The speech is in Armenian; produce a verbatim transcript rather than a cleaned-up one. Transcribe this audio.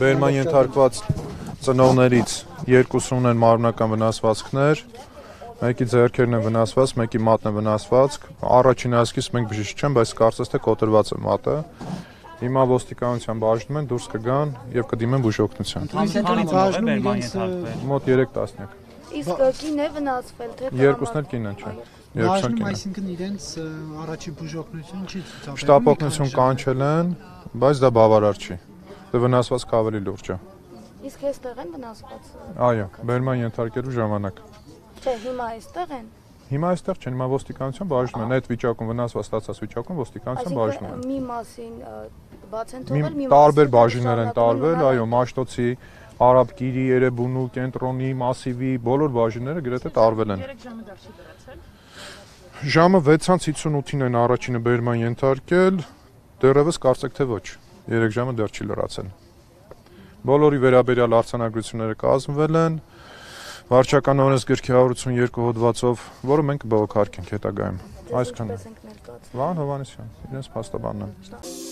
Բերման ենթարկված ծնողներից երկուսն ունեն մարմնական վնասվածքներ, մեկի ձեռքերն են վնասված, մեկի մատն է վնասված, առաջին հասկից մենք բժիշկ չեմ, բայց կարծես թե կոտրված է մատը։ Հիմա ոստիկանության բաժնում են, դուրս կգան եւ կդիմեն բուժօգնության։ Մոտ երեք տասնյակ։ Իսկ կին է վնասվել թե երկուսն էլ կին են, չէ։ Բաժնում, այսինքն իրենց առաջի բուժօգնություն չի ցուցաբերում։ Շտապօգնություն կանչել են, բայց դա բավարար չի։ Դա վնասվածքը ավելի լուրջ է։ Իսկ այստեղ են վնասված։ Այո, բերման ենթարկելու ժամանակ։ Չէ, հիմա այստեղ են։ Հիմա այստեղ չեն, հիմա ոստիկանության բաժնում են, այդ վիճակում վնասված ստացած վիճակում ոստիկանության բաժնում են։ Մի մասին բաց են թողել, մի տարբեր բաժիններ են տարվել, այո, Մաշտոցի, Արաբկիրի, Երևանու, Կենտրոնի, Մասիվի, բոլոր բաժինները գրեթե տարվել են։ Ժամը վեցից հիսունութին են առաջինը բերման ենթարկել, դեռևս կարծեք թե ոչ, երեք ժամը դեռ չի լրացել։ Բոլորի վերաբերյալ արձանագրությունները կազմվել են, վարչական օրենսգրքի հարյուր ութսունուերկու հոդվածով, որը մենք կբողոքարկենք հետագայում։ Այսքանը։ Վահան Հովհաննիսյան, իրենց փաստաբանն են։